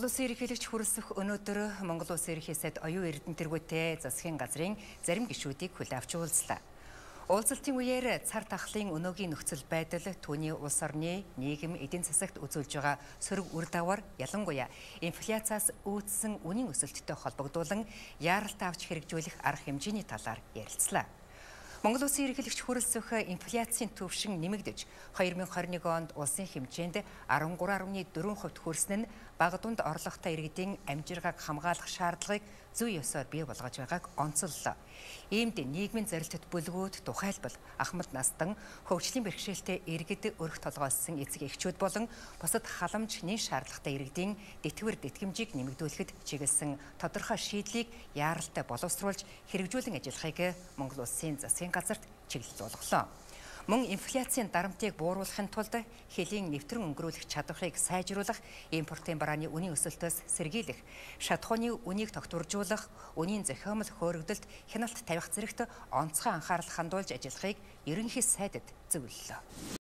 Монгол Улсын ерөнхийлөгч хүрэлцэх өнөөдөр Монгол Улсын ерөнхий сайд оюун эрдэнэ тэргүүтэй засгийн газрын зарим гишүүдийг хүлээн авч уулзлаа. Уулзалтын үеэр цар тахлын өнөөгийн нөхцөл байдал түүний улс орны нийгэм эдийн засагт үзүүлж байгаа сөрөг үр дагавар ялангуяа инфляцаас үүдсэн үнийн өсөлттэй холбогдуулан яаралтай авч хэрэгжүүлэх арга хэмжээний талаар ярилцлаа. Монгол Улсын ерөнхийлөгч хүрэлцэх инфляцийн түвшин нэмэгдэж 2021 онд улсын хэмжээнд 13.4% хүрсэн нь бага дунд орлоготой иргэдийн амжиргааг хамгаалах шаардлагыг зүй ёсоор бий болгож байгааг онцоллоо. Иймд нийгмийн зорилтод бүлгүүд тухайлбал ахмад настан хөгжлийн бэрхшээлтэй иргэд өрх толгойлсон эцэг эхчүүд болон бусад халамж нийт шаардлагатай иргэдийн тэтгэвэр тэтгэмжийг нэмэгдүүлэхэд чиглэсэн тодорхой шийдлийг яаралтай боловсруулж хэрэгжүүлэн ажиллахыг Монгол Улсын засгийн газарт чиглэл болголоо. Мөн инфляцийн дарамтыг бууруулахын тулд хэлийн нэвтрэн өнгөрүүлэх чадварыг сайжруулах, импортын барааны үнийн өсөлтөөс сэргийлэх, шатхууны үнийг тогтворжуулах, үнийн зохиомл хөөрөгдөлд хяналт тавих зэрэгт онцгой анхаарал хандуулж ажиллахыг ерөнхий сайдад зөвлөлөө.